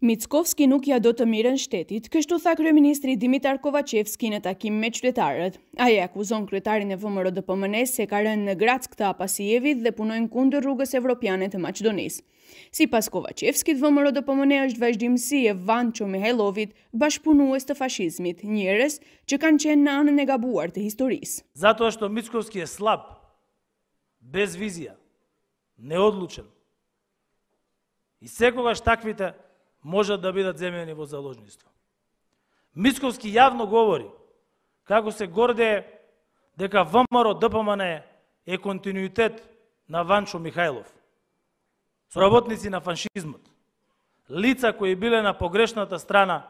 Mickovski nuk ja do të mirën shtetit, kështu tha kryeministri Dimitar Kovacevski në takim me qytetarët. Ai akuzon kryetarin e VMRO-DPMNE-s se ka rënë në Grack të Apasijevit dhe punojnë kundër rrugës evropiane të Maqedonisë. Sipas Kovacevskit, VMRO-DPMNE është vazhdimsi e Vancho Mihajlovit, bashkëpunues të fashizmit, njerëz që kanë qenë në anën e gabuar të historisë. Zato što Mickovski je slab, без визија, неодлучен. И секогаш таквите можат да бидат земени во заложниство. Мицковски јавно говори како се гордее дека ВМРО-ДПМНЕ е континуитет на Ванчо Михајлов, соработници на фашизмот, лица кои биле на погрешната страна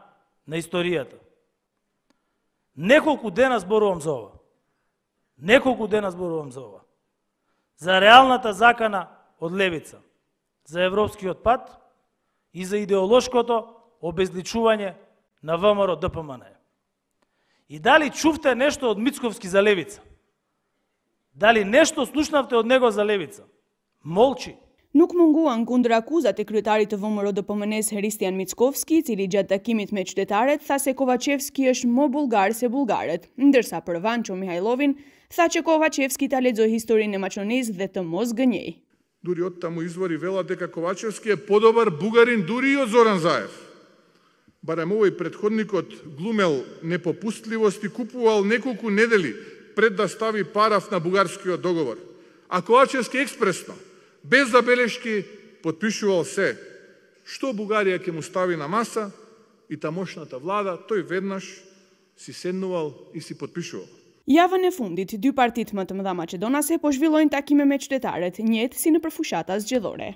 на историјата. Неколку дена зборувам за ова. За реалната закана од левица, за европскиот пат и за идеолошкото обезличување на ВМРО-ДПМНЕ. И дали чувте нешто од Мицковски за левица? Дали нешто слушнавте од него за левица? Молчи. Nuk munguan kundër akuzat e kryetarit të VMRO-DPMNE-s Hristijan Mickovski, i cili gjatë takimit me qytetarët tha se Kovacevski është më bullgar se bullgarët, ndërsa për Vancho Mihajlovin tha që Kovacevski ta lexoi historinë e Maqedonisë dhe të mos gënjej. Дури од таму извори велат дека Ковачевски е подобар бугарин дури и од Зоран Заев. Барем овој претходникот глумел непопустливост и купувал неколку недели пред да стави параф на бугарскиот договор. А Ковачевски експресно, без забелешки, подпишувал се. Што Бугарија ќе му стави на маса и тамошната влада, тој веднаш си седнувал и си подпишувал. Javën e fundit, dy partitë më të mëdha maqedonase po zhvillojnë takime me qytetarët, njëjtë si nëpër fushata zgjedhore.